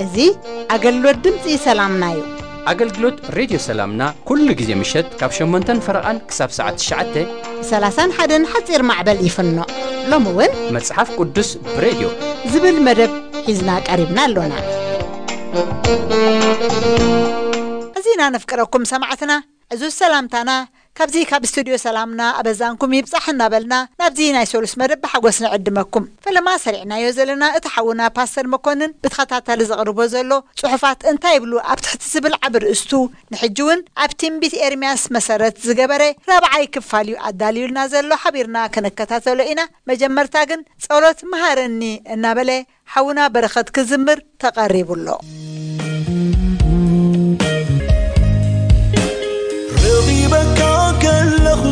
እዚ ኣገልግሎት ድምፂ ሰላምና እዩ። ኣገልግሎት ሬድዮ ሰላምና ኩሉ ግዜ ምሸት ካብ ሸሞንተን ፈረቓን ክሳብ ሰዓት ትሽዓተ። ሰላሳን ሓደን ሓፂር ማዕበል ይፍኖ። ሎሚ እውን መጽሓፍ ቅዱስ ብሬድዮ ዝብል መደብ ሒዝና ቀሪብና ኣሎና። እዚና ነፍቅረኩም ሰማዕትና፣ ዕዙዝ ሰላምታና ካብዚ ካብ ስቱድዮ ሰላምና ኣበዛንኩም ይብጻሕ እናበልና ናብዚ ናይ ሰሉስ መደብ ብሓጎስ ንዕድመኩም። ፈለማ ሰሪዕናዮ ዘለና እቲ ሓውና ፓስተር መኮንን ብተኸታታሊ ዘቕርቦ ዘሎ ጽሑፋት እንታይ ይብሉ ኣብ ትሕቲ ዝብል ዓቢ ርእስቱ ንሕጂ እውን ኣብ ትንቢት ኤርምያስ መሰረት ዝገበረ ራብዓይ ክፋል እዩ ኣዳልዩልና ዘሎ። ሓቢርና ክንከታተሎ ኢና። መጀመርታ ግን ጸሎት መሃረኒ እናበለ ሓውና በረኸት ክዝምር ተቐሪቡ ኣሎ። ረኺበካ ከለኹ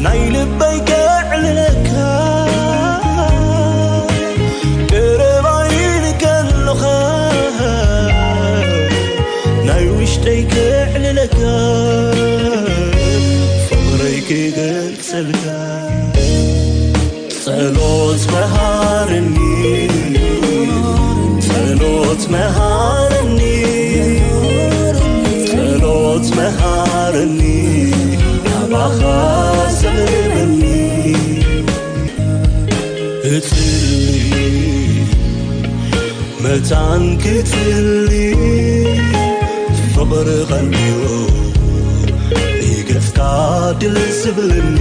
ናይ ልበይ ከዕልለካ፣ ቀረባይ ከለኻ ናይ ውሽጠይ ከዕልለካ፣ ፍቕረይ ክገልጸልካ። ጸሎት መሃረኒ፣ ጸሎት መሃረኒ፣ ጸሎት መሃረኒ፣ ናባኻ ዘቕርበኒ። እጽሊ መታን ክትሊ ፍቕሪ ቐንዩ ንገጽካ ድል ዝብለኒ።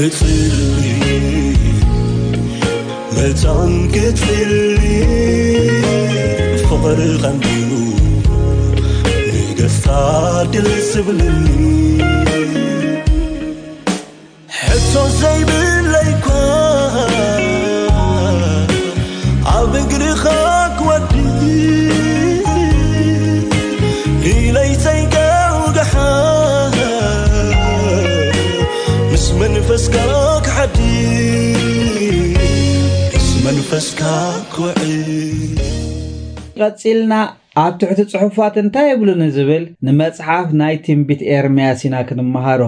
እጽሊ መታን ክትሊ ፍቕሪ ቐንዩ ንገጽካ ድል ዝብለኒ። ሕቶ ዘይብለይኳ ኣብ እግርኻ ክወድቕ ኢለይ ዘይገውግሓ ምስ መንፈስካ ክሓድር ምስ መንፈስካ ክውዕል። ቀጺልና ኣብ ትሕቲ ጽሑፋት እንታይ ይብሉ ንዝብል ንመጽሓፍ ናይ ትንቢት ኤርምያስ ኢና ክንመሃሮ።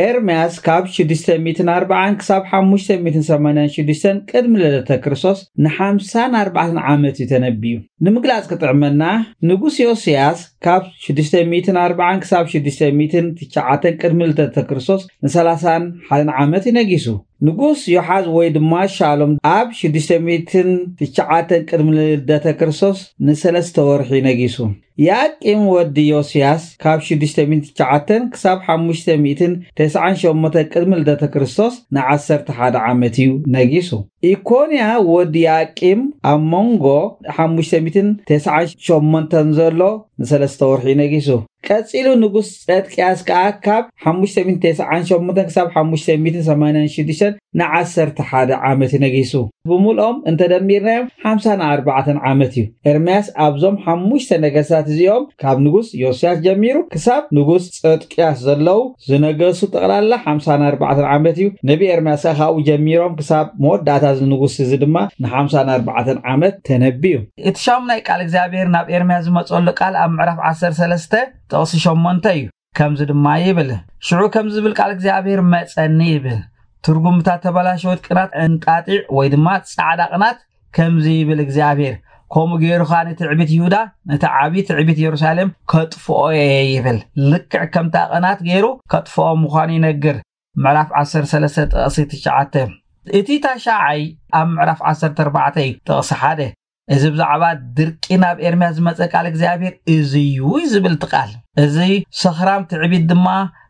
ኤርምያስ ካብ ሽዱሽተ ሚእትን ኣርባዓን ክሳብ ሓሙሽተ ሚእትን ሰማንያን ሽዱሽተን ቅድሚ ልደተ ክርስቶስ ንሓምሳን ኣርባዕተን ዓመት እዩ ተነቢዩ። ንምግላጽ ክጥዕመና፣ ንጉስ ዮስያስ ካብ ሽዱሽተ ሚእትን ኣርባዓን ክሳብ ሽዱሽተ ሚእትን ትሽዓተን ቅድሚ ልደተ ክርስቶስ ንሰላሳን ሓደን ዓመት እዩ ነጊሱ። ንጉስ ዮሓዝ ወይ ድማ ሻሎም ኣብ ሽዱሽተ ሚእትን ትሽዓተን ቅድሚ ልደተ ክርስቶስ ንሰለስተ ወርሒ ነጊሱ። ያቂም ወዲ ዮስያስ ካብ ሽዱሽተ ሚእትን ትሽዓተን ክሳብ ሓሙሽተ ሚእትን ተስዓን ሸሞንተን ቅድሚ ልደተ ክርስቶስ ንዓሰርተ ሓደ ዓመት እዩ ነጊሱ። ኢኮንያ ወዲ ያቂም ኣብ መንጎ ሓሙሽተ ሚእትን ተስዓን ሸሞንተን ዘሎ ንሰለስተ ወርሒ ነጊሱ። ቀጺሉ ንጉስ ጸድቅያስ ከኣ ካብ ሓሙሽተ ሚእትን ተስዓን ሸሞንተን ክሳብ ሓሙሽተ ሚእትን ሰማንያን ሽዱሽተን ንዓሰርተ ሓደ ዓመት ነጊሱ። ብምልኦም እንተ ደሚርናዮም ሓምሳን ኣርባዕተን ዓመት እዩ። ኤርምያስ ኣብዞም ሓሙሽተ ነገስታት እዚኦም ካብ ንጉስ ዮስያስ ጀሚሩ ክሳብ ንጉስ ጸድቅያስ ዘለዉ ዝነገሱ ጠቕላላ ሓምሳን ኣርባዕተን ዓመት እዩ። ነቢ ኤርምያስ ከኣ ካብኡ ጀሚሮም ክሳብ መወዳእታ እዚ ንጉስ እዚ ድማ ንሓምሳን ኣርባዕተን ዓመት ተነብዩ። እቲ ሻሙናይ ቃል እግዚኣብሔር ናብ ኤርምያስ ዝመጸሉ ቃል ኣብ ምዕራፍ ዓሰርተ ሰለስተ ጥቕሲ ሸሞንተ እዩ። ከምዚ ድማ ይብል፣ ሽዑ ከምዚ ዝብል ቃል እግዚኣብሔር መጸኒ ይብል። ትርጉም እታ ተበላሸወት ቅናት እንጣጢዕ ወይ ድማ ጻዕዳ ቅናት ከምዚ ይብል እግዚኣብሔር፣ ከምኡ ገይሩ ኸኣ ንትዕቢት ይሁዳ፣ ነቲ ዓቢ ትዕቢት የሩሳሌም ከጥፍኦ እየ ይብል። ልክዕ ከምታ ቅናት ገይሩ ከጥፍኦ ምዃኑ ይነግር። ምዕራፍ ዓሰርተ ሰለስተ ጥቕሲ ትሽዓተ። እቲ ታሽዓይ ኣብ ምዕራፍ ዓሰርተ ኣርባዕተ እዩ፣ ጥቕሲ ሓደ። እዚ ብዛዕባ ድርቂ ናብ ኤርምያስ ዝመጸ ቃል እግዚኣብሔር እዚ እዩ ዝብል እቲ ቃል። እዚ ሰኽራም ትዕቢት ድማ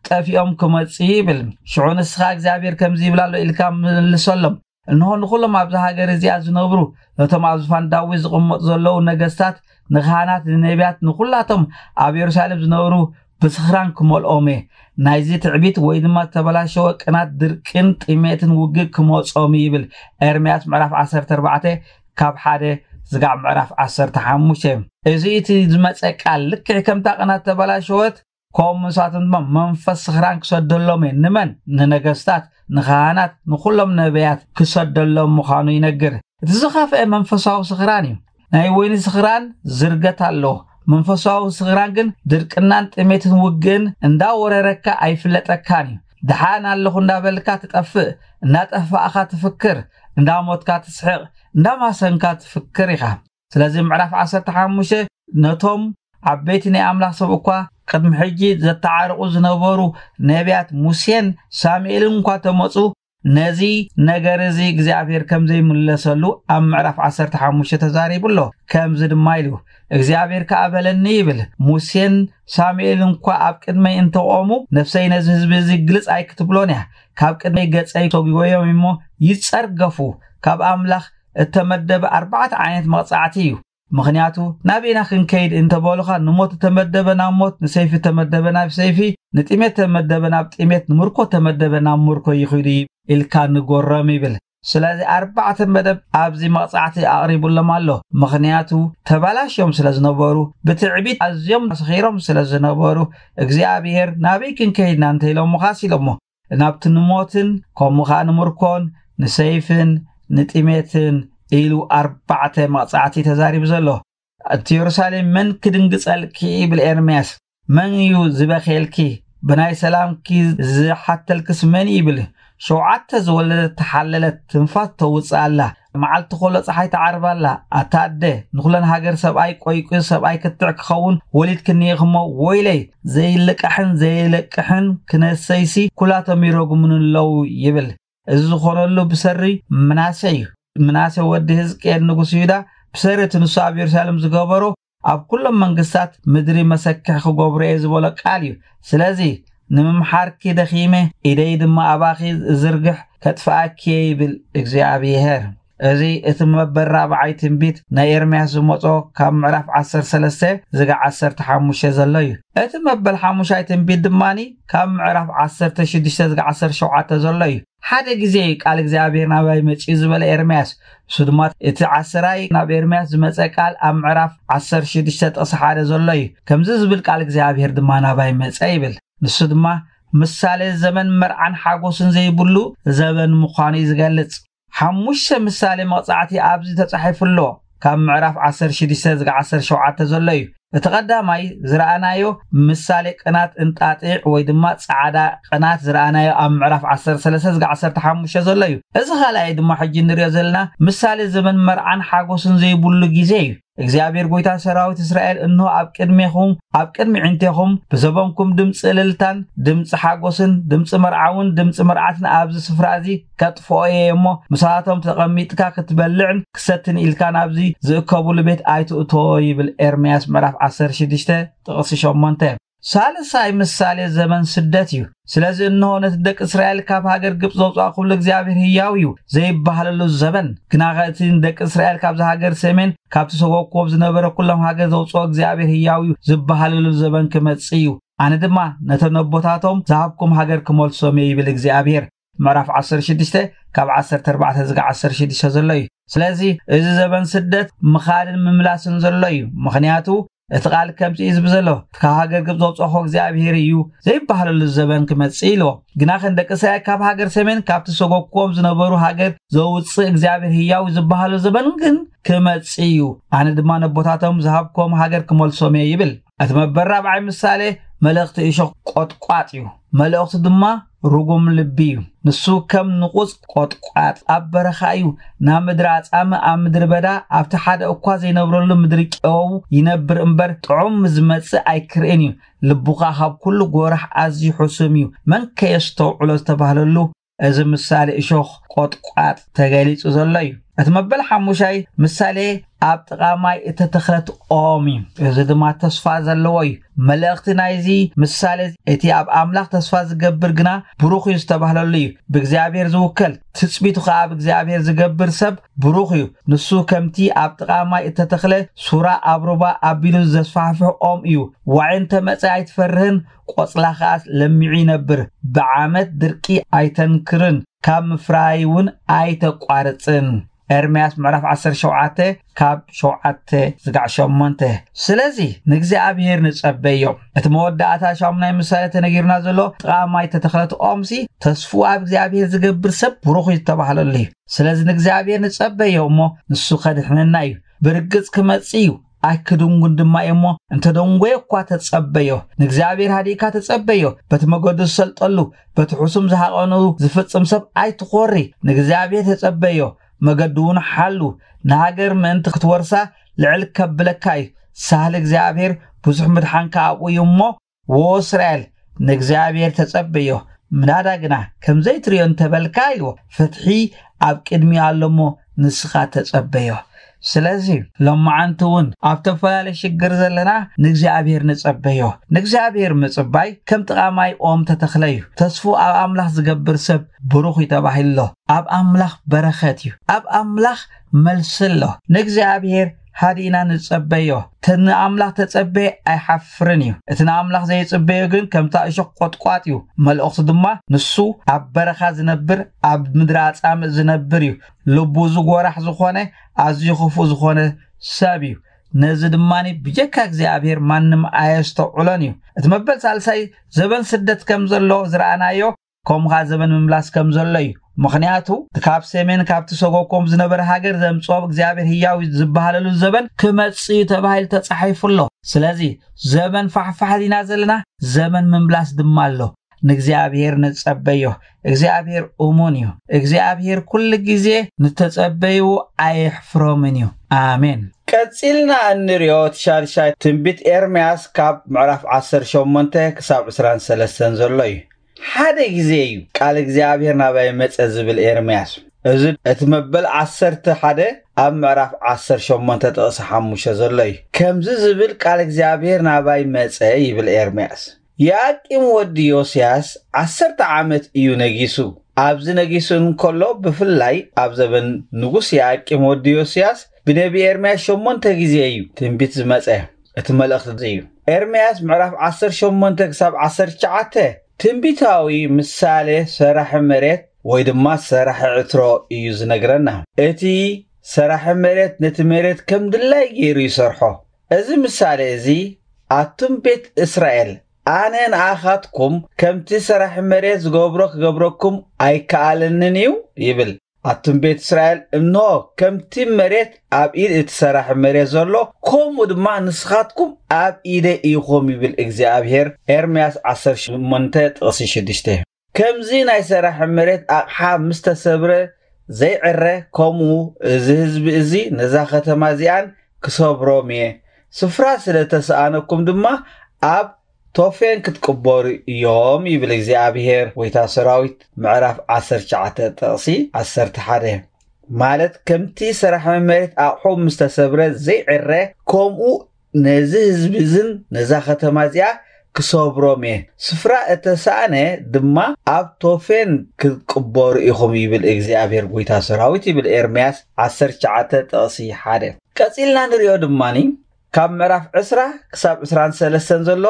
ጠፊኦም ክመጽእ ይብል። ሽዑ ንስኻ እግዚኣብሔር ከምዚ ይብል ኣሎ ኢልካ ምልሰሎም። እንሆ ንኹሎም ኣብዚ ሃገር እዚኣ ዝነብሩ፣ ነቶም ኣብ ዝፋን ዳዊት ዝቕመጡ ዘለዉ ነገስታት፣ ንኻህናት፣ ንነቢያት፣ ንኹላቶም ኣብ የሩሳሌም ዝነብሩ ብስኽራን ክመልኦም እየ። ናይዚ ትዕቢት ወይ ድማ ዝተበላሸወ ቅናት፣ ድርቅን ጥሜትን ውግእ ክመጾም እዩ ይብል ኤርምያስ ምዕራፍ ዓሰርተ ኣርባዕተ ካብ ሓደ ዝጋዕ ምዕራፍ ዓሰርተ ሓሙሽተ። እዚ እቲ ዝመጸ ቃል ልክዕ ከምታ ቅናት ተበላሸወት ከምኡ ንሳቶም ድማ መንፈስ ስኽራን ክሰደሎም እየ። ንመን? ንነገስታት፣ ንኻህናት፣ ንኹሎም ነቢያት ክሰደሎም ምዃኑ ይነግር። እቲ ዝኸፍአ መንፈሳዊ ስኽራን እዩ። ናይ ወይኒ ስኽራን ዝርገት ኣለዎ። መንፈሳዊ ስኽራን ግን ድርቅናን ጥሜትን ውግእን እንዳወረረካ ኣይፍለጠካን እዩ። ደሓን ኣለኹ እንዳበልካ ትጠፍእ፣ እንዳጠፋእኻ ትፍክር፣ እንዳሞትካ ትስሕቕ፣ እንዳማሰንካ ትፍክር ኢኻ። ስለዚ ምዕራፍ ዓሰርተ ሓሙሽተ ነቶም ዓበይቲ ናይ ኣምላኽ ሰብ እኳ ቅድሚ ሕጂ ዘተዓርቑ ዝነበሩ ነቢያት ሙሴን ሳሙኤልን እኳ ተመጹ፣ ነዚ ነገር እዚ እግዚኣብሔር ከም ዘይምለሰሉ ኣብ ምዕራፍ ዓሰርተ ሓሙሽተ ተዛሪቡ ኣሎ። ከምዚ ድማ ኢሉ፣ እግዚኣብሔር ከኣ በለኒ ይብል፣ ሙሴን ሳሙኤልን እኳ ኣብ ቅድመይ እንተቆሙ፣ ነፍሰይ ነዚ ህዝቢ እዚ ግልጽ ኣይክትብሎን እያ። ካብ ቅድመይ ገጸይ ተጒጎዮም እሞ ይጸርገፉ። ካብ ኣምላኽ እተመደበ ኣርባዕተ ዓይነት መቕጻዕቲ እዩ። ምኽንያቱ ናበይና ክንከይድ እንተበሉኻ፣ ንሞት እተመደበ ናብ ሞት፣ ንሰይፊ እተመደበ ናብ ሰይፊ፣ ንጥሜት እተመደበ ናብ ጥሜት፣ ንምርኮ እተመደበ ናብ ምርኮ ይኺዱ ኢልካ ንጎሮም ይብል። ስለዚ ኣርባዕተ መደብ ኣብዚ መቕጻዕቲ ኣቕሪቡሎም ኣሎ። ምኽንያቱ ተባላሽዮም ስለ ዝነበሩ፣ ብትዕቢት ኣዝዮም ሰኺሮም ስለ ዝነበሩ፣ እግዚኣብሔር ናበይ ክንከይድና እንተ ኢሎምኻስ ኢሎሞ፣ ናብቲ ንሞትን ከምኡ ኸኣ ንምርኮን ንሰይፍን ንጥሜትን ኢሉ ኣርባዕተ መቕጻዕቲ ተዛሪቡ ዘሎ። እቲ የሩሳሌም መን ክድንግጸልኪ ይብል ኤርምያስ። መን እዩ ዝበኼልኪ? ብናይ ሰላምኪ ዝሓተልክስ መን ይብል? ሸውዓተ ዝወለደት ተሓለለት፣ ትንፋስ ተውጽእ ኣላ። መዓልቲ ኮሎ ጸሓይ ትዓርብ ኣላ። ኣታ ኣደ፣ ንኹለን ሃገር ሰብኣይ ቆይቁ ሰብኣይ ክትዕ ክኸውን ወሊድክኒ ኢኽሞ፣ ወይለይ፣ ዘይልቃሕን ዘይለቅሕን ክነሰይሲ ኩላቶም ይረጉሙኒ ኣለዉ ይብል። እዚ ዝኾነሉ ብሰሪ ምናሴ እዩ። ምናሴ ወዲ ህዝቅኤል ንጉስ ይሁዳ ብሰሪ እቲ ንሱ ኣብ የሩሳሌም ዝገበሮ ኣብ ኩሎም መንግስታት ምድሪ መሰክሕ ክገብሮ እየ ዝበሎ ቃል እዩ። ስለዚ ንምምሓርኪ ደኺመ፣ ኢደይ ድማ ኣባኺ ዝርግሕ ከጥፍኣኪ እየ ይብል እግዚኣብሔር። እዚ እቲ መበል ራብዓይ ትንቢት ናይ ኤርምያስ ዝመጾ ካብ ምዕራፍ ዓሰርተ ሰለስተ ዝጋ ዓሰርተ ሓሙሽተ ዘሎ እዩ። እቲ መበል ሓሙሻይ ትንቢት ድማኒ ካብ ምዕራፍ ዓሰርተ ሽዱሽተ ዝጋ ዓሰርተ ሸውዓተ ዘሎ እዩ። ሓደ ግዜ እዩ ቃል እግዚኣብሔር ናባይ መጺኡ ዝበለ ኤርምያስ። እሱ ድማ እቲ ዓሰራይ ናብ ኤርምያስ ዝመጸ ቃል ኣብ ምዕራፍ ዓሰርተ ሽዱሽተ ጥቕሲ ሓደ ዘሎ እዩ። ከምዚ ዝብል ቃል እግዚኣብሔር ድማ ናባይ መጸ ይብል። ንሱ ድማ ምሳሌ ዘመን መርዓን ሓጎስን ዘይብሉ ዘበን ምዃኑ እዩ ዝገልጽ። ሓሙሽተ ምሳሌ መቕጻዕቲ ኣብዚ ተጻሒፉ ኣሎ። ካብ ምዕራፍ ዓሰርተ ሽዱሽተ ዝጋ ዓሰርተ ሸውዓተ ዘሎ እዩ። እቲ ቀዳማይ ዝረኣናዮ ምሳሌ ቅናት እንጣጢዕ ወይ ድማ ጻዕዳ ቅናት ዝረኣናዮ ኣብ ምዕራፍ ዓሰርተ ሰለስተ ዝጋ ዓሰርተ ሓሙሽተ ዘሎ እዩ። እዚ ካልኣይ ድማ ሕጂ ንሪኦ ዘለና ምሳሌ ዘመን መርዓን ሓጎስን ዘይብሉ ግዜ እዩ። እግዚኣብሔር ጐይታ ሰራዊት እስራኤል፣ እንሆ ኣብ ቅድሜኹም፣ ኣብ ቅድሚ ዕንቴኹም፣ ብዘበንኩም ድምፂ እልልታን ድምፂ ሓጎስን ድምፂ መርዓውን ድምፂ መርዓትን ኣብዚ ስፍራ እዚ ከጥፍኦ እየ እሞ፣ ምሳቶም ተቐሚጥካ ክትበልዕን ክሰትን ኢልካ ናብዚ ዝእከቡሉ ቤት ኣይትእቶ ይብል ኤርምያስ ምዕራፍ ዓሰርተ ሽዱሽተ ጥቕሲ ሸሞንተ። ሳልሳይ ምሳሌ ዘመን ስደት እዩ። ስለዚ እንሆ ነቲ ደቂ እስራኤል ካብ ሃገር ግብፂ ዘውፅኣኩሉ እግዚኣብሔር ህያው እዩ ዘይበሃለሉ ዘበን። ግናኸ እቲ ንደቂ እስራኤል ካብዚ ሃገር ሰሜን ካብቲ ሰጎግክዎም ዝነበረ ኩሎም ሃገር ዘውፅኦ እግዚኣብሔር ህያው እዩ ዝበሃለሉ ዘበን ክመጽእ እዩ። ኣነ ድማ ነቶም ነቦታቶም ዝሃብኩም ሃገር ክመልሶም እየ ይብል እግዚኣብሔር። ምዕራፍ ዓሰርተ ሽዱሽተ ካብ ዓሰርተ ኣርባዕተ ዝጋ ዓሰርተ ሽዱሽተ ዘሎ እዩ። ስለዚ እዚ ዘበን ስደት ምኻድን ምምላስን ዘሎ እዩ። ምኽንያቱ እቲ ቃል ከምዚ እዩ ዝብል ዘሎ፣ ካብ ሃገር ግብፂ ዘውፅኦኹ እግዚኣብሔር እዩ ዘይበሃለሉ ዘበን ክመጽእ ኢልዎ። ግናኸ ንደቂ እስራኤል ካብ ሃገር ሰሜን ካብቲ ሰጎግክዎም ዝነበሩ ሃገር ዘውፅእ እግዚኣብሔር ህያው ዝበሃሉ ዘበን ግን ክመጽእ እዩ። ኣነ ድማ ነቦታቶም ዝሃብክዎም ሃገር ክመልሶም እየ ይብል። እቲ መበል ራብዓይ ምሳሌ መልእኽቲ እሾኽ ቆጥቋጥ እዩ። መልእኽቱ ድማ ርጉም ልቢ እዩ። ንሱ ከም ንቑጽ ቆጥቋጥ ኣብ በረኻ እዩ። ናብ ምድሪ ኣጻምእ፣ ኣብ ምድሪ በዳ፣ ኣብቲ ሓደ እኳ ዘይነብረሉ ምድሪ ጨው ይነብር እምበር፣ ጥዑም ዝመጽእ ኣይክርእን እዩ። ልቡ ኸኣ ካብ ኩሉ ጐራሕ ኣዝዩ ሕሱም እዩ። መን ከ የስተውዕሎ ዝተባህለሉ፣ እዚ ምሳሌ እሾኽ ቆጥቋጥ ተገሊጹ ዘሎ እዩ። እቲ መበል ሓሙሻይ ምሳሌ ኣብ ጥቓ ማይ እተተኽለት ኦም እዩ። እዚ ድማ ተስፋ ዘለዎ እዩ። መልእኽቲ ናይዚ ምሳሌ፣ እቲ ኣብ ኣምላኽ ተስፋ ዝገብር ግና ብሩኽ እዩ ዝተባህለሉ እዩ። ብእግዚኣብሔር ዝውከል፣ ትጽቢቱ ኸኣ ኣብ እግዚኣብሔር ዝገብር ሰብ ብሩኽ እዩ። ንሱ ከምቲ ኣብ ጥቓ ማይ እተተኽለ ሱራ ኣብ ሩባ ኣቢሉ ዘስፋሕፍሕ ኦም እዩ። ዋዒ እንተ መጸ ኣይትፈርህን፣ ቆጽላ ኸኣ ለሚዑ ይነብር። ብዓመት ድርቂ ኣይተንክርን፣ ካብ ምፍራይ እውን ኣይተቋርጽን። ኤርምያስ ምዕራፍ ዓሰርተ ሸውዓተ ካብ ሸውዓተ ዝጋዕ ሸሞንተ። ስለዚ ንእግዚኣብሔር ንጸበዮ። እቲ መወዳእታ ሻሙናይ ምሳሌ ተነጊሩና ዘሎ ጥቓ ማይ ተተኽለት ኦምሲ ተስፉ ኣብ እግዚኣብሔር ዝገብር ሰብ ብሩኽ እዩ ዝተባህለሉ እዩ። ስለዚ ንእግዚኣብሔር ንጸበዮ እሞ ንሱ ከድሕነና እዩ። ብርግጽ ክመጽእ እዩ፣ ኣይክድንጉን ድማ እዩ እሞ እንተደንጎየ እኳ ተጸበዮ። ንእግዚኣብሔር ሃዲእካ ተጸበዮ። በቲ መገዱ ዝሰልጠሉ፣ በቲ ሕሱም ዝሃቐኑ ዝፍጽም ሰብ ኣይትኾሪ። ንእግዚኣብሔር ተጸበዮ፣ መገዱ እውን ሓሉ። ንሃገር ምእንቲ ክትወርሳ ልዕል ከብለካ እዩ። ሳህል እግዚኣብሔር ብዙሕ ምድሓንካ ኣብኡ እዩ እሞ፣ ወ እስራኤል ንእግዚኣብሔር ተጸበዮ። ምናዳ ግና ከምዘይትርእዮ እንተበልካ ኢልዎ፣ ፍትሒ ኣብ ቅድሚ ኣሎ እሞ ንስኻ ተጸበዮ። ስለዚ ሎማዓንቲ እውን ኣብ ተፈላለየ ሽግር ዘለና ንእግዚኣብሔር ንጸበዮ። ንእግዚኣብሔር ምጽባይ ከም ጥቓማይ ኦም ተተኽለ እዩ። ተስፉ ኣብ ኣምላኽ ዝገብር ሰብ ብሩኽ እዩ ተባሂሉ ኣሎ። ኣብ ኣምላኽ በረኸት እዩ። ኣብ ኣምላኽ መልሲ ኣሎ። ንእግዚኣብሔር ሃዲእና ንጸበዮ። እቲ ንኣምላኽ ተጸበየ ኣይሓፍርን እዩ። እቲ ንኣምላኽ ዘይጽበዮ ግን ከምታ እሾኽ ቆጥቋጥ እዩ። መልእኽቱ ድማ ንሱ ኣብ በረኻ ዝነብር፣ ኣብ ምድሪ ኣጻምእ ዝነብር እዩ። ልቡ ዝጎራሕ ዝኾነ፣ ኣዝዩ ክፉእ ዝኾነ ሰብ እዩ። ነዚ ድማ ብጀካ እግዚኣብሔር ማንም ኣየስተውዕሎን እዩ። እቲ መበል ሳልሳይ ዘበን ስደት ከም ዘሎ ዝረኣናዮ፣ ከምኡ ኸዓ ዘበን ምምላስ ከም ዘሎ እዩ። ምኽንያቱ ካብ ሰሜን ካብቲ ሰጎኮም ዝነበረ ሃገር ዘምጽኦ እግዚኣብሔር ህያው እዩ ዝበሃለሉ ዘበን ክመጽእ እዩ ተባሂሉ ተጻሒፉ ኣሎ። ስለዚ ዘበን ፋሕፋሕ ዲና ዘለና፣ ዘበን ምምላስ ድማ ኣሎ። ንእግዚኣብሔር ንጸበዮ። እግዚኣብሔር እሙን እዩ። እግዚኣብሔር ኩሉ ግዜ ንተጸበይዎ ኣየሕፍሮምን እዩ። ኣሜን። ቀጺልና እንሪኦ እቲ ሻድሻይ ትንቢት ኤርምያስ ካብ ምዕራፍ ዓሰርተ ሸሞንተ ክሳብ ዕስራን ሰለስተን ዘሎ እዩ። ሓደ ግዜ እዩ ቃል እግዚኣብሔር ናባይ መጸ ዝብል ኤርምያስ። እዚ እቲ መበል ዓሰርተ ሓደ ኣብ ምዕራፍ ዓሰርተ ሸሞንተ ጥቕሲ ሓሙሽተ ዘሎ እዩ። ከምዚ ዝብል ቃል እግዚኣብሔር ናባይ መጸ ይብል ኤርምያስ። ያቂም ወዲ ዮስያስ ዓሰርተ ዓመት እዩ ነጊሱ። ኣብዚ ነጊሱ እንከሎ፣ ብፍላይ ኣብ ዘበን ንጉስ ያቂም ወዲ ዮስያስ፣ ብነቢ ኤርምያስ ሸሞንተ ግዜ እዩ ትንቢት ዝመጸ፣ እቲ መልእኽቲ እዩ። ኤርምያስ ምዕራፍ ዓሰርተ ሸሞንተ ክሳብ ዓሰርተ ትሽዓተ ትንቢታዊ ምሳሌ ሰራሒ መሬት ወይ ድማ ሰራሒ ዕትሮ እዩ ዝነግረና። እቲ ሰራሒ መሬት ነቲ መሬት ከም ድላይ ገይሩ ይሰርሖ። እዚ ምሳሌ እዚ፣ ኣቱም ቤት እስራኤል፣ ኣነ ንኣኻትኩም ከምቲ ሰራሒ መሬት ዝገብሮ ክገብረኩም ኣይከኣለንን እዩ ይብል። ኣቱም ቤት እስራኤል፣ እንሆ፣ ከምቲ መሬት ኣብ ኢድ እቲ ሰራሒ መሬት ዘሎ፣ ከምኡ ድማ ንስኻትኩም ኣብ ኢደይ ኢኹም ይብል እግዚኣብሔር። ኤርምያስ ዓሰርተ ሸሞንተ ጥቕሲ ሽዱሽተ። ከምዚ ናይ ሰራሒ መሬት ኣቕሓ ምስ ተሰብረ ዘይዕረ፣ ከምኡ እዚ ህዝቢ እዚ ነዛ ከተማ እዚኣን ክሰብሮም እየ። ስፍራ ስለ ተሰኣነኩም ድማ ኣብ ቶፌን ክትቅበሩ እዮም ይብል እግዚኣብሔር። ጎይታ ሰራዊት ምዕራፍ ዓሰርተ ትሽዓተ ጥቕሲ ዓሰርተ ሓደ። ማለት ከምቲ ሰራሒ መሬት ኣቕሑ ምስ ተሰብረ ዘይዕረ፣ ከምኡ ነዚ ህዝቢ እዝን ነዛ ከተማ እዚኣ ክሰብሮም እየ። ስፍራ እተሳእነ ድማ ኣብ ቶፌን ክትቅበሩ ኢኹም ይብል እግዚኣብሔር ጎይታ ሰራዊት ይብል ኤርምያስ ዓሰርተ ትሽዓተ ጥቕሲ ሓደ። ቀጺልና ንሪኦ ድማኒ ካብ ምዕራፍ ዕስራ ክሳብ ዕስራን ሰለስተን ዘሎ፣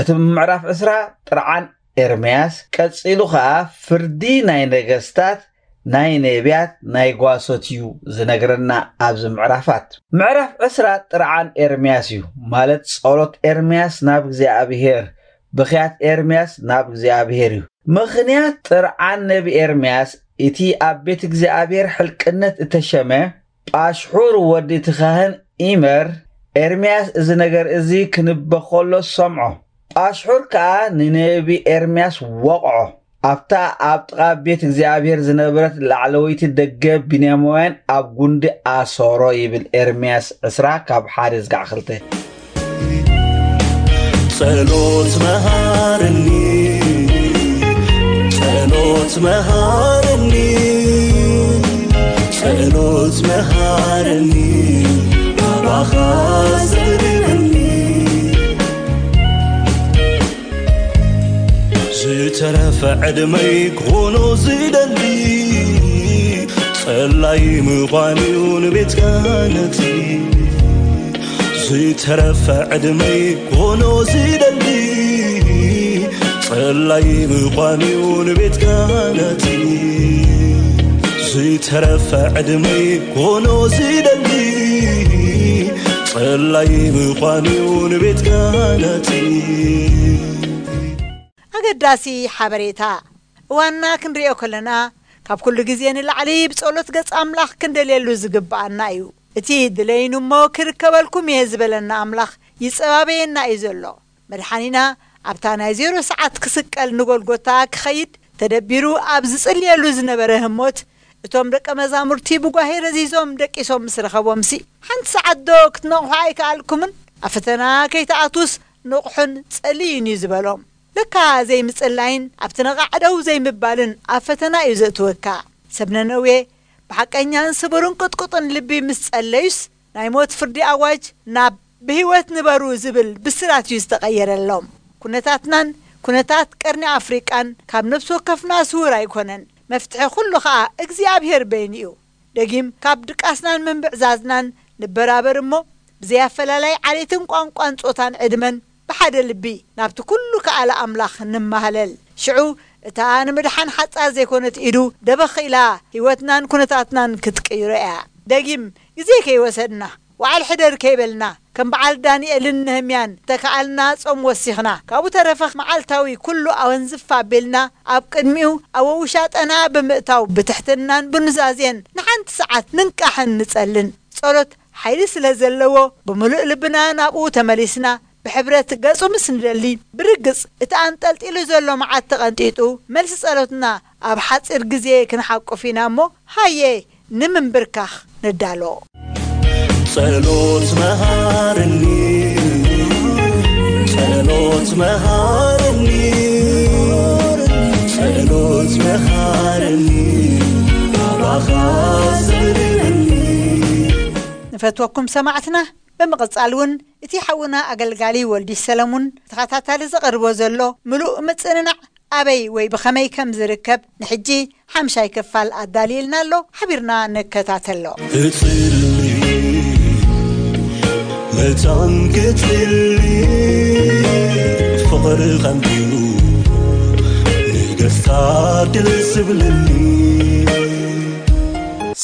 እቲ ምዕራፍ ዕስራ ጥርዓን ኤርምያስ፣ ቀጺሉ ኸኣ ፍርዲ ናይ ነገስታት፣ ናይ ነብያት፣ ናይ ጓሶት እዩ ዝነግረና ኣብዚ ምዕራፋት። ምዕራፍ ዕስራ ጥርዓን ኤርምያስ እዩ፣ ማለት ጸሎት ኤርምያስ ናብ እግዚኣብሔር፣ ብኽያት ኤርምያስ ናብ እግዚኣብሔር እዩ። ምኽንያት ጥርዓን ነቢ ኤርምያስ፣ እቲ ኣብ ቤት እግዚኣብሔር ሕልቅነት እተሸመ ጳሽሑር ወዲ እቲ ካህን ኢመር፣ ኤርምያስ እዚ ነገር እዚ ክንበ ኸሎ ሰምዖ። ጳሽሑር ከኣ ንነቢ ኤርምያስ ወቕዖ። ኣብታ ኣብ ጥቓ ቤት እግዚኣብሔር ዝነበረት ላዕለወይቲ ደገ ብንያማውያን ኣብ ጉንዲ ኣሰሮ ይብል ኤርምያስ ዕስራ ካብ ሓደ ዝጋዕ ክልተ። ጸሎት መሃረኒ፣ ጸሎት መሃረኒ፣ ጸሎት መሃረኒ፣ ናባኻ ዘቕርበኒ። ዝተረፈ ዕድመይ ክኾኖ ዝደሊ፣ ጸላይ ምዃን እዩ ንቤት ክህነቲ። ዝተረፈ ዕድመይ ክኾኖ ዝደሊ፣ ጸላይ ምዃን እዩ ንቤት ክህነቲ። ተረፈ ዕድመይ ኮኖ ዝደሊ ጸላይ ምዃንዩ ንቤትካ ናቲ። ኣገዳሲ ሓበሬታ። እዋንና ክንሪኦ ከለና፣ ካብ ኩሉ ግዜ ንላዕሊ ብጸሎት ገጽ ኣምላኽ ክንደልየሉ ዝግብኣና እዩ። እቲ ድለይኑ እሞ ክርከበልኩም እየ ዝበለና ኣምላኽ ይጸባበየና እዩ ዘሎ። መድሓኒና ኣብታ ናይ ዜሮ ሰዓት ክስቀል ንጎልጎታ ክኸይድ ተደቢሩ ኣብ ዝጽልየሉ ዝነበረ ህሞት፣ እቶም ደቀ መዛሙርቲ ብጓሄ ረዚዞም ደቂሶም ምስ ረኸቦምሲ፣ ሓንቲ ሰዓት ዶ ክትነቕሑ ኣይከኣልኩምን? ኣብ ፈተና ከይትኣትዉስ ንቕሑን ጸልዩን እዩ ዝበሎም። ለካ ዘይምጽላይን ኣብቲ ነቓዕ ደው ዘይምባልን ኣብ ፈተና እዩ ዘእትወካ። ሰብ ነነዌ ብሓቀኛን ስቡርን ቅጥቁጥን ልቢ ምስ ጸለዩስ፣ ናይ ሞት ፍርዲ ኣዋጅ ናብ ብህይወት ንበሩ ዝብል ብስራት እዩ ዝተቐየረሎም። ኩነታትናን ኩነታት ቀርኒ ኣፍሪቃን ካብ ነፍሲ ወከፍና ስውር ኣይኮነን። መፍትሒ ኩሉ ኸኣ እግዚኣብሔር በይኑ እዩ። ደጊም ካብ ድቃስናን ምንብዕዛዝናን ንበራበር እሞ፣ ብዘይ ኣፈላላይ ዓሌትን ቋንቋን ጾታን ዕድመን ብሓደ ልቢ ናብቲ ኩሉ ከኣለ ኣምላኽ ንማህለል። ሽዑ እታ ንምድሓን ሓጻር ዘይኮነት ኢዱ ደበኽ ኢላ ህይወትናን ኩነታትናን ክትቅይሮ እያ። ደጊም ግዜ ከይወሰድና፣ ወዓል ሕደር ከይበልና፣ ከም በዓል ዳንኤልን ነህምያን ተከኣልና ጾም ወሲኽና፣ ካብኡ ተረፈ መዓልታዊ ኩሉ ኣወንዝፍ ኣቢልና ኣብ ቅድሚኡ ኣብ ውሻጠና ብምእታው ብትሕትናን ብኑዛዜን ንሓንቲ ሰዓት ንንቃሕን ንጸልን። ጸሎት ሓይሊ ስለ ዘለዎ፣ ብምሉእ ልብና ናብኡ ተመሊስና ብሕብረት ገጹ ምስ ንደሊ፣ ብርግጽ እቲ ኣንጠልጢሉ ዘሎ መዓት ተቐንጢጡ፣ መልሲ ጸሎትና ኣብ ሓጺር ግዜ ክንሓቁፍ ኢና እሞ፣ ሃየ ንምንብርካኽ ንዳሎ። ጸሎት መሃረኒ፣ ጸሎት መሃረኒ፣ ጸሎት መሃረኒ፣ ናባኻ ዘብርህኒ። ንፈትወኩም ሰማዕትና፣ ብምቕጻል እውን እቲ ሓውና ኣገልጋሊ ወልዲ ሰለሙን ተኸታታሊ ዘቐርቦ ዘሎ ምሉእ ምጽንናዕ ኣበይ ወይ ብኸመይ ከም ዝርከብ ንሕጂ ሓምሻይ ክፋል ኣዳልይልና ኣሎ፣ ሓቢርና ንከታተሎ። እጽሊ መታን ክትጽሊ ፍቕሪ ኸንዲኑ ንገስታ ድል ዝብለኒ።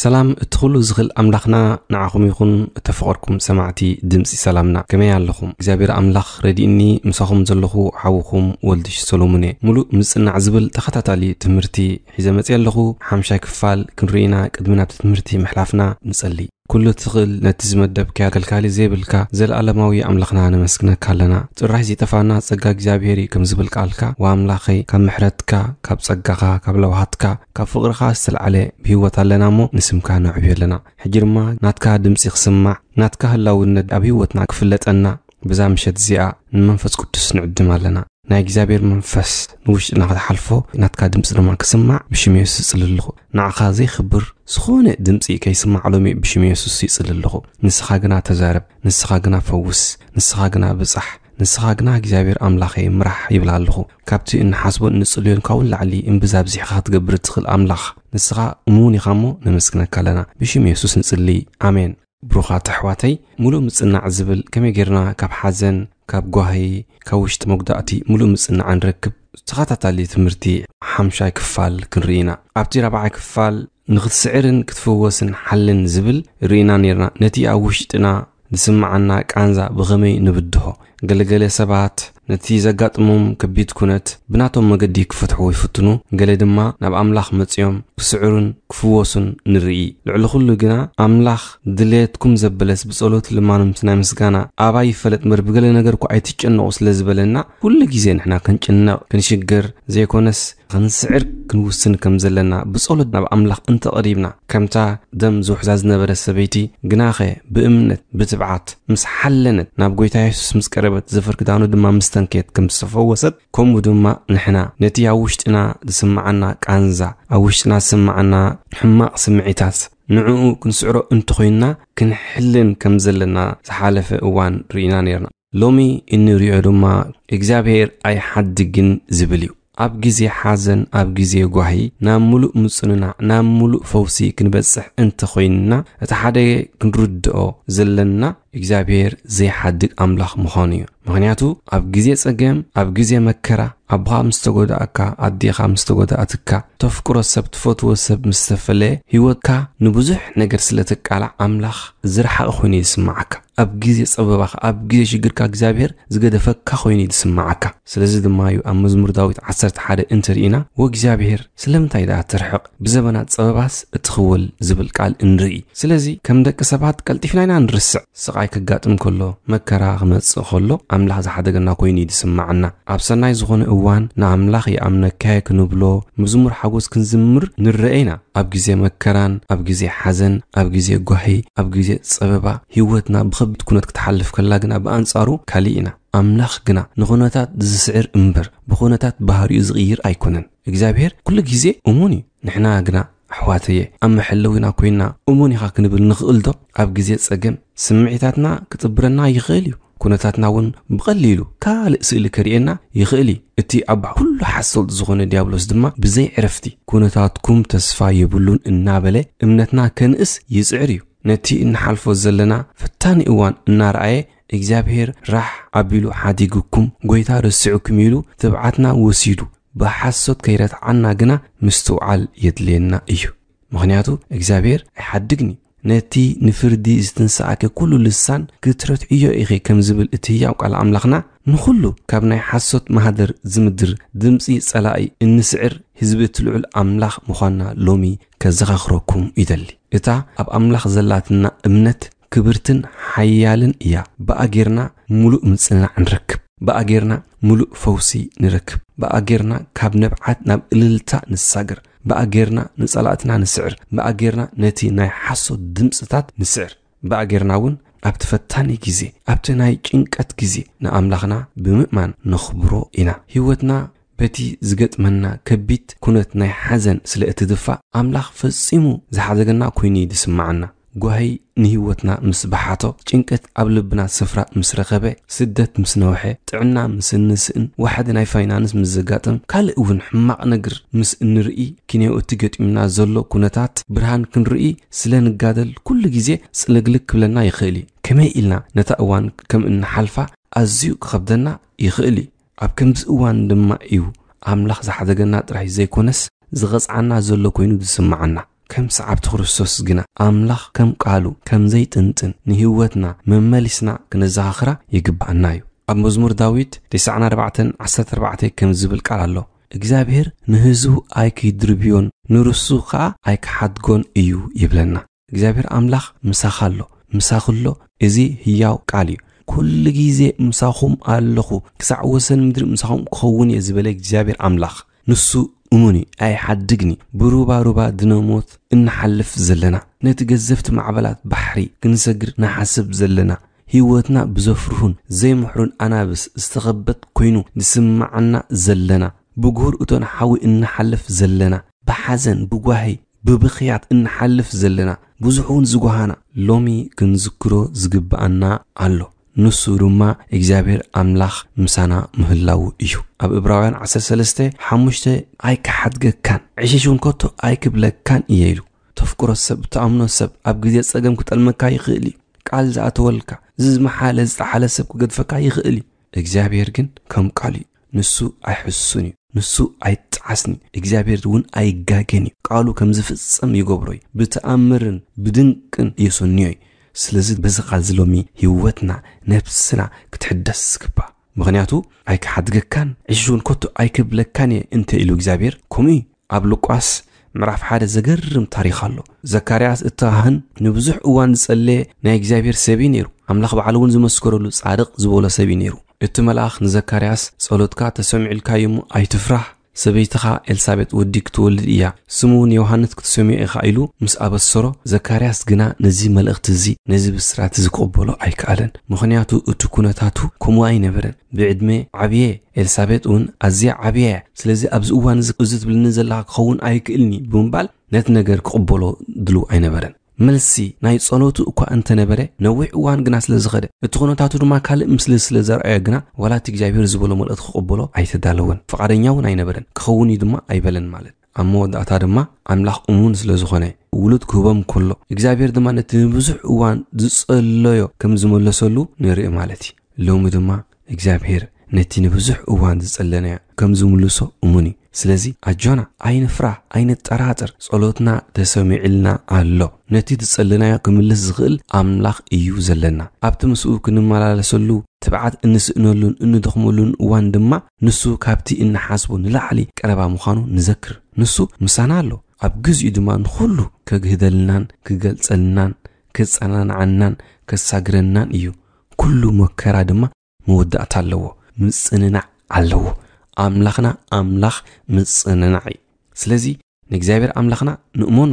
ሰላም እቲ ኩሉ ዝኽእል ኣምላኽና ንዓኹም ይኹን። እተፈቐርኩም ሰማዕቲ ድምፂ ሰላምና፣ ከመይ ኣለኹም? እግዚኣብሔር ኣምላኽ ረዲእኒ፣ ምሳኹም ዘለኹ ሓውኹም ወልድሽ ሰሎሙን እየ። ሙሉእ ምጽናዕ ዝብል ተኸታታሊ ትምህርቲ ሒዘ መፅየ ኣለኹ። ሓምሻይ ክፋል ክንርኢና ቅድሚ ናብቲ ትምህርቲ ምሕላፍና ንጸሊ። ኩሉ ትኽእል ነቲ ዝመደብካዮ ከልካሊ ዘይብልካ ዘለኣለማዊ ኣምላኽና ነመስግነካ ኣለና። ጭራሽ ዘይጠፋና ጸጋ እግዚኣብሔር እዩ፣ ከም ዝብል ቃልካ፣ ወኣምላኸይ፣ ካብ ምሕረትካ፣ ካብ ጸጋኻ፣ ካብ ለውሃትካ፣ ካብ ፍቕርኻ ዝተልዓለ ብህይወት ኣለና እሞ ንስምካ ነዕብዮ ኣለና። ሕጂ ድማ ናትካ ድምጺ ክስማዕ፣ ናትካ ህላውነት ኣብ ህይወትና ክፍለጠና፣ በዛ ምሸት እዚኣ ንመንፈስ ቅዱስ ንዕድም ኣለና። ናይ እግዚኣብሔር መንፈስ ንውሽጥና ክትሓልፎ፣ ናትካ ድምፂ ድማ ክስማዕ ብሽም የሱስ ይጽሊ ኣለኹ። ንዓኻ ዘይኽብር ዝኾነ ድምፂ ከይስማዕ ሎሚ ብሽም የሱስ ይጽሊ ኣለኹ። ንስኻ ግና ተዛረብ፣ ንስኻ ግና ፈውስ፣ ንስኻ ግና ብጻሕ፣ ንስኻ ግና እግዚኣብሔር ኣምላኸይ ምራሕ ይብል ኣለኹ። ካብቲ እንሓስቦን እንጽልዮን ካብኡ ንላዕሊ እምብዛ ኣብዚሕኻ ክትገብር እትኽእል ኣምላኽ ንስኻ እሙን ኢኻ እሞ ነመስግነካ ኣለና። ብሽም የሱስ ንጽሊ። ኣሜን። ብሩኻት ኣሕዋተይ፣ ሙሉእ ምጽናዕ ዝብል ከመይ ጌርና ካብ ሓዘን፣ ካብ ጓሂ፣ ካብ ውሽጢ መጉዳእቲ ሙሉእ ምጽናዕ ንረክብ? ተኸታታሊ ትምህርቲ ሓምሻይ ክፋል ክንርኢ ኢና። ኣብቲ ራብዓይ ክፋል ንኽትስዕርን ክትፍወስን ሓልን ዝብል ርኢና ኔርና። ነቲ ኣብ ውሽጥና ዝስምዓና ቃንዛ ብኸመይ ንብድሆ? ገለገለ ሰባት ነቲ ዘጋጥሞም ከቢድ ኩነት ብናቶም መገዲ ክፈትሕዎ ይፍትኑ፣ ገለ ድማ ናብ ኣምላኽ መጺኦም ክስዕሩን ክፍወሱን ንርኢ። ልዕሊ ኩሉ ግና ኣምላኽ ድሌትኩም ዘበለስ ብጸሎት ልማኖም ናይ ምስጋና ኣባይ ይፈለጥ እምበር ብገለ ነገር እኳ ኣይትጨነቑ ስለ ዝበለና፣ ኩሉ ግዜ ንሕና ክንጭነቕ፣ ክንሽገር ዘይኮነስ ክንስዕር ክንውስን ከም ዘለና ብጸሎት ናብ ኣምላኽ እንተቐሪብና፣ ከምታ ደም ዝውሕዛ ዝነበረ ሰበይቲ ግናኸ ብእምነት ብትብዓት ምስ ሓለነት ናብ ጐይታ የሱስ ምስ ቀረበት ዘፈር ክዳኑ ድማ ምስ ተንከየት ከም ዝተፈወሰት፣ ከምኡ ድማ ንሕና ነቲ ኣብ ውሽጥና ዝስምዓና ቃንዛ፣ ኣብ ውሽጥና ዝስምዓና ሕማቕ ስምዒታት ንዕኡ ክንስዕሮ እንተኾይንና ክንሕልን ከም ዘለና ዝሓለፈ እዋን ርኢና ኔርና። ሎሚ እንሪኦ ድማ እግዚኣብሔር ኣይሓድግን ዝብል እዩ። ኣብ ግዜ ሓዘን፣ ኣብ ግዜ ጓሂ ናብ ምሉእ ምጽንናዕ፣ ናብ ምሉእ ፈውሲ ክንበጽሕ እንተኾይንና እቲ ሓደ ክንርድኦ ዘለና እግዚኣብሔር ዘይሓድግ ኣምላኽ ምዃኑ እዩ። ምኽንያቱ ኣብ ግዜ ጸገም፣ ኣብ ግዜ መከራ፣ ኣቦኻ ምስ ተጎዳእካ፣ ኣዴኻ ምስ ተጎዳእትካ፣ ተፍቅሮ ሰብ፣ ትፈትዎ ሰብ ምስ ተፈለየ፣ ህይወትካ ንብዙሕ ነገር ስለ ትቃላዕ ኣምላኽ ዝረሓቐ ኮይኑ ይስምዓካ። ኣብ ግዜ ጸበባኻ፣ ኣብ ግዜ ሽግርካ እግዚኣብሔር ዝገደፈካ ኮይኑ ይስምዓካ። ስለዚ ድማ እዩ ኣብ መዝሙር ዳዊት ዓሰርተ ሓደ እንተርኢና፣ "ወእግዚኣብሔር ስለምንታይ ደኣ ትርሕቕ? ብዘበናት ጸበባስ እትኽወል" ዝብል ቃል እንርኢ። ስለዚ ከም ደቂ ሰባት ቀልጢፍና ኢና ንርስዕ። ስቓይ ከጋጥም ከሎ፣ መከራ ክመጽእ ከሎ ኣምላኽ ዝሓደገና ኮይኑ እዩ ዝስምዓና። ኣብ ሰናይ ዝኾነ እዋን ንኣምላኽ ይኣምነካየ ክንብሎ፣ መዝሙር ሓጎስ ክንዝምር ንረአ ኢና። ኣብ ግዜ መከራን ኣብ ግዜ ሓዘን፣ ኣብ ግዜ ጓሂ፣ ኣብ ግዜ ጸበባ፣ ህይወትና ብኸቢድ ኩነት ክትሓልፍ ከላ ግና ብኣንጻሩ ካሊእ ኢና። ኣምላኽ ግና ንኹነታት ዝስዕር እምበር ብኹነታት ባህሪኡ ዝቕይር ኣይኮነን። እግዚኣብሔር ኩሉ ግዜ እሙን እዩ። ንሕና ግና ኣሕዋተየ ኣብ መሐለዊና ኮይና እሙን ኢኻ ክንብል ንኽእል ዶ? ኣብ ግዜ ጸገም ስምዒታትና ክጥብረና ይኽእል እዩ። ኩነታትና እውን ብቐሊሉ ካልእ ስእሊ ከርእየና ይኽእል እዩ። እቲ ኣብ ኩሉ ሓሶት ዝኾነ ዲያብሎስ ድማ ብዘይ ዕረፍቲ "ኩነታትኩም ተስፋ የብሉን" እናበለ እምነትና ከንእስ ይጽዕር እዩ። ነቲ እንሓልፎ ዘለና ፈታኒ እዋን እናረኣየ እግዚኣብሔር ራሕ ኣቢሉ ሓዲጉኩም፣ ጎይታ ረሲዑኩም ኢሉ ትብዓትና ወሲዱ ብሓሶት ከይረትዓና ግና ምስትውዓል የድልየና እዩ። ምኽንያቱ እግዚኣብሔር ኣይሓድግን እዩ። ነቲ ንፍርዲ ዝትንስኣከ ኩሉ ልሳን ክትረትዕዮ ኢኺ ከም ዝብል እቲ ህያው ቃል ኣምላኽና፣ ንኹሉ ካብ ናይ ሓሶት ማህደር ዝምድር ድምፂ ጸላኢ እንስዕር ህዝቢ እቲ ልዑል ኣምላኽ ምዃንና ሎሚ ከዘኻኽረኩም ይደሊ። እታ ኣብ ኣምላኽ ዘላትና እምነት ክብርትን ሓያልን እያ። ብኣ ጌርና ምሉእ ምጽንናዕ ንረክብ። ብኣ ጌርና ምሉእ ፈውሲ ንረክብ። ብኣ ጌርና ካብ ንብዓት ናብ እልልታ ንሳገር። ብኣ ጌርና ንጸላእትና ንስዕር። ብኣ ጌርና ነቲ ናይ ሓሶት ድምጽታት ንስዕር። ብኣ ጌርና እውን ኣብቲ ፈታኒ ግዜ፣ ኣብቲ ናይ ጭንቀት ግዜ ንኣምላኽና ብምእማን ነኽብሮ ኢና። ህይወትና በቲ ዝገጥመና ከቢድ ኩነት ናይ ሓዘን ስለ እትድፋእ፣ ኣምላኽ ፈጺሙ ዝሓደገና ኮይኑ እዩ ዝስምዓና። ጓሂ ንህይወትና ምስ በሓቶ፣ ጭንቀት ኣብ ልብና ስፍራ ምስ ረኸበ፣ ስደት ምስ ነውሐ፣ ጥዕና ምስ እንስእን፣ ዋሕዲ ናይ ፋይናንስ ምስ ዘጋጥም፣ ካልእ እውን ሕማቕ ነገር ምስ እንርኢ፣ ክንዮ እቲ ገጢሙና ዘሎ ኩነታት ብርሃን ክንርኢ ስለ ንጋደል፣ ኩሉ ግዜ ጽልግልግ ክብለና ይኽእል እዩ። ከመይ ኢልና ነታ እዋን ከም እንሓልፋ ኣዝዩ ክኸብደና ይኽእል እዩ። ኣብ ከምዚ እዋን ድማ እዩ ኣምላኽ ዝሓደገና ጥራይ ዘይኮነስ፣ ዝቐጽዓና ዘሎ ኮይኑ ዝስምዓና። ከም ሰዓብቲ ክርስቶስ ግና፣ ኣምላኽ ከም ቃሉ ከም ዘይጥንጥን ንህይወትና መመሊስና ክነዘኻኽራ ይግብኣና እዩ። ኣብ መዝሙር ዳዊት ተስዓን ኣርባዕተን ዓሰርተ ኣርባዕተ ከም ዝብል ቃል ኣሎ፣ "እግዚኣብሔር ንህዝቡ ኣይክድርብዮን፣ ንርሱ ኸኣ ኣይክሓድጎን እዩ" ይብለና። እግዚኣብሔር ኣምላኽ ምሳኻ ኣሎ፣ ምሳኺ ኣሎ። እዚ ህያው ቃል እዩ። "ኩሉ ግዜ ምሳኹም ኣለኹ፣ ክሳዕ ወሰን ምድሪ ምሳኹም ክኸውን እየ" ዝበለ እግዚኣብሔር ኣምላኽ፣ ንሱ እሙን እዩ፣ ኣይሓድግን እዩ። ብሩባ ሩባ ድነ ሞት እንሓልፍ ዘለና፣ ነቲ ገዘፍቲ ማዕበላት ባሕሪ ክንሰግር ንሓስብ ዘለና፣ ህይወትና ብዘፍርሁን ዘይምሕሩን ኣናብስ ዝተኸበት ኮይኑ ዝስምዓና ዘለና፣ ብጉህር እቶን ሓዊ እንሓልፍ ዘለና፣ ብሓዘን፣ ብጓሂ፣ ብብኽያት እንሓልፍ ዘለና፣ ብዙሕ እውን ዝጓሃና፣ ሎሚ ክንዝክሮ ዝግብኣና ኣሎ። ንሱ ድማ እግዚኣብሔር ኣምላኽ ምሳና ምህላዉ እዩ። ኣብ ዕብራውያን ዓሰርተ ሰለስተ ሓሙሽተ "ኣይክሓድገካን፣ ዕሽሽ እውን ከቶ ኣይክብለካን እየ" ኢሉ። ተፍቅሮ ሰብ፣ እትኣምኖ ሰብ ኣብ ግዜ ጸገም ክጠልመካ ይኽእል እዩ። ቃል ዝኣተወልካ፣ ዝዝመሓለ፣ ዝጠሓለ ሰብ ክገድፈካ ይኽእል እዩ። እግዚኣብሔር ግን ከም ቃሉ እዩ። ንሱ ኣይሕሱን እዩ። ንሱ ኣይጠዓስን እዩ። እግዚኣብሔር እውን ኣይጋገን እዩ። ቃሉ ከም ዝፍጸም ይገብሮ እዩ። ብተኣምርን ብድንቅን የሰንዮ እዩ። ስለዚ በዚ ቃል እዚ ሎሚ ህይወትና፣ ነብስና ክትሕደስ ዝግባእ። ምኽንያቱ "ኣይክሓድገካን፣ ዕሽሽ እውን ከቶ ኣይክብለካን እየ" እንተ ኢሉ እግዚኣብሔር፣ ከምኡ እዩ። ኣብ ሉቃስ ምዕራፍ ሓደ ዘገርም ታሪኽ ኣሎ። ዘካርያስ እቲ ካህን ንብዙሕ እዋን ዝጸለየ ናይ እግዚኣብሔር ሰብ እዩ ነይሩ። ኣምላኽ ባዕሉ እውን ዝመስከረሉ ጻድቕ ዝበሎ ሰብ እዩ ነይሩ። እቲ መልኣኽ ንዘካርያስ፣ "ጸሎትካ ተሰሚዑልካ እዩ እሞ ኣይትፍራህ፣ ሰበይትኻ ኤልሳቤጥ ወዲ ክትወልድ እያ፣ ስሙ እውን ዮሃንስ ክትሰምዮ ኢኻ" ኢሉ ምስ ኣበሰሮ፣ ዘካርያስ ግና ነዚ መልእኽቲ እዚ፣ ነዚ ብስራት እዚ ክቕበሎ ኣይከኣለን። ምኽንያቱ እቲ ኩነታቱ ከምኡ ኣይነበረን። ብዕድመ ዓብየ፣ ኤልሳቤጥ እውን ኣዝያ ዓብያ እያ። ስለዚ ኣብዚ እዋን እዚ፣ እዚ ትብልኒ ዘለኻ ክኸውን ኣይክእልን እዩ ብምባል ነቲ ነገር ክቕበሎ ድሉው ኣይነበረን። መልሲ ናይ ጸሎቱ እኳ እንተነበረ፣ ነዊሕ እዋን ግና ስለ ዝኸደ፣ እቲ ኩነታቱ ድማ ካልእ ምስሊ ስለ ዘርኣዮ ግና፣ ዋላ እቲ እግዚኣብሔር ዝበሎ መልእኽቲ ክቕበሎ ኣይተዳለወን። ፍቓደኛ እውን ኣይነበረን። ክኸውን እዩ ድማ ኣይበለን ማለት። ኣብ መወዳእታ ድማ ኣምላኽ እሙን ስለ ዝኾነ፣ ውሉድ ክህቦም ከሎ እግዚኣብሔር ድማ ነቲ ንብዙሕ እዋን ዝጸለዮ ከም ዝመለሰሉ ንርኢ ማለት እዩ። ሎሚ ድማ እግዚኣብሔር ነቲ ንብዙሕ እዋን ዝጸለናዮ ከም ዝምልሶ እሙን እዩ። ስለዚ ኣጆና ኣይንፍራ፣ ኣይንጠራጠር። ጸሎትና ተሰሚዕልና ኣሎ። ነቲ ዝጸለናዮ ክምልስ ዝኽእል ኣምላኽ እዩ ዘለና። ኣብቲ ምስኡ ክንመላለሰሉ ትብዓት እንስእነሉን እንደኽመሉን እዋን ድማ ንሱ ካብቲ እንሓስቦ ንላዕሊ ቀረባ ምዃኑ ንዘክር። ንሱ ምሳና ኣሎ። ኣብ ግዚኡ ድማ ንኹሉ ከግህደልናን ክገልጸልናን ክጸናንዓናን ከሳግረናን እዩ። ኩሉ መከራ ድማ መወዳእታ ኣለዎ፣ ምጽንናዕ ኣለዎ። ኣምላኽና ኣምላኽ ምጽንናዕ እዩ። ስለዚ ንእግዚኣብሔር ኣምላኽና ንእመኖ፣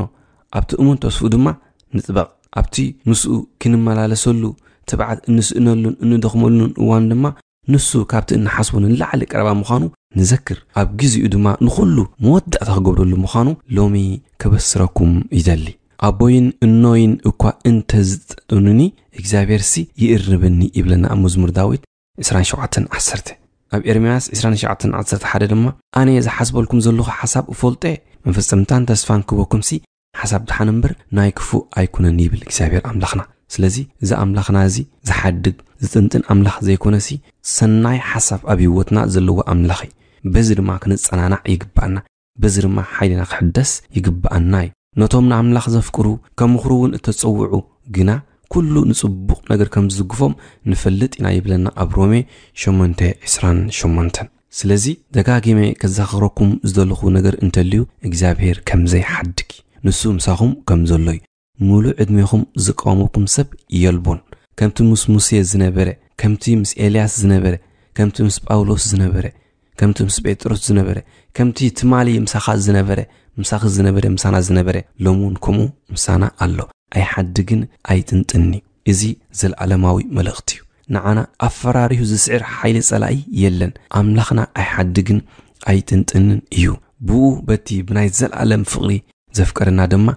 ኣብቲ እሙን ተስፍኡ ድማ ንጥበቕ። ኣብቲ ምስኡ ክንመላለሰሉ ትብዓት እንስእነሉን እንደኽመሉን እዋን ድማ ንሱ ካብቲ እንሓስቦ ንላዕሊ ቀረባ ምዃኑ ንዘክር። ኣብ ግዚኡ ድማ ንኹሉ መወዳእታ ክገብረሉ ምዃኑ ሎሚ ከበስረኩም ይደሊ። ኣቦይን እኖይን እኳ እንተ ዝጠጡንኒ እግዚኣብሔርሲ ይእርብኒ ይብለና ኣብ መዝሙር ዳዊት ዕስራን ሸውዓተን ዓሰርተ። ኣብ ኤርምያስ ዕስራን ሸውዓተን ዓሰርተ ሓደ ድማ ኣነ ዝሓስበልኩም ዘለኹ ሓሳብ እፈልጦ እየ፣ መፈጸምታን ተስፋን ክበኩምሲ ሓሳብ ድሓን እምበር ናይ ክፉእ ኣይኩነን ይብል እግዚኣብሔር ኣምላኽና። ስለዚ እዚ ኣምላኽና እዚ ዝሓድግ ዝጥንጥን ኣምላኽ ዘይኮነሲ ሰናይ ሓሳብ ኣብ ህይወትና ዘለዎ ኣምላኽ እዩ። በዚ ድማ ክንጸናናዕ ይግባኣና። በዚ ድማ ሓይልና ክሕደስ ይግባኣና እዩ። ነቶም ንኣምላኽ ዘፍቅሩ ከም ምኽሩ እውን እተጸውዑ ግና ኩሉ ንጽቡቕ ነገር ከም ዝዝግፎም ንፈልጥ ኢና ይብለና ኣብ ሮሜ ሸሞንተ ዕስራን ሸሞንተን። ስለዚ ደጋጊመ ከዘኻኽረኩም ዝደለኹ ነገር እንተልዩ እግዚኣብሔር ከም ዘይሓድግ እዩ። ንሱ ምሳኹም ከም ዘሎ እዩ። ምሉእ ዕድሜኹም ዝቃወመኩም ሰብ የልቦን። ከምቲ ምስ ሙሴ ዝነበረ፣ ከምቲ ምስ ኤልያስ ዝነበረ፣ ከምቲ ምስ ጳውሎስ ዝነበረ፣ ከምቲ ምስ ጴጥሮስ ዝነበረ፣ ከምቲ ትማሊ ምሳኻ ዝነበረ፣ ምሳኺ ዝነበረ፣ ምሳና ዝነበረ፣ ሎሚ እውን ከምኡ ምሳና ኣሎ። ኣይሓድግን ኣይጥንጥንን'ዩ። እዚ ዘለኣለማዊ መልእኽቲ እዩ። ንዓና ኣፈራሪሁ ዝስዕር ሓይሊ ጸላኢ የለን። ኣምላኽና ኣይሓድግን ኣይጥንጥንን እዩ። ብኡ በቲ ብናይ ዘለኣለም ፍቕሪ ዘፍቀረና ድማ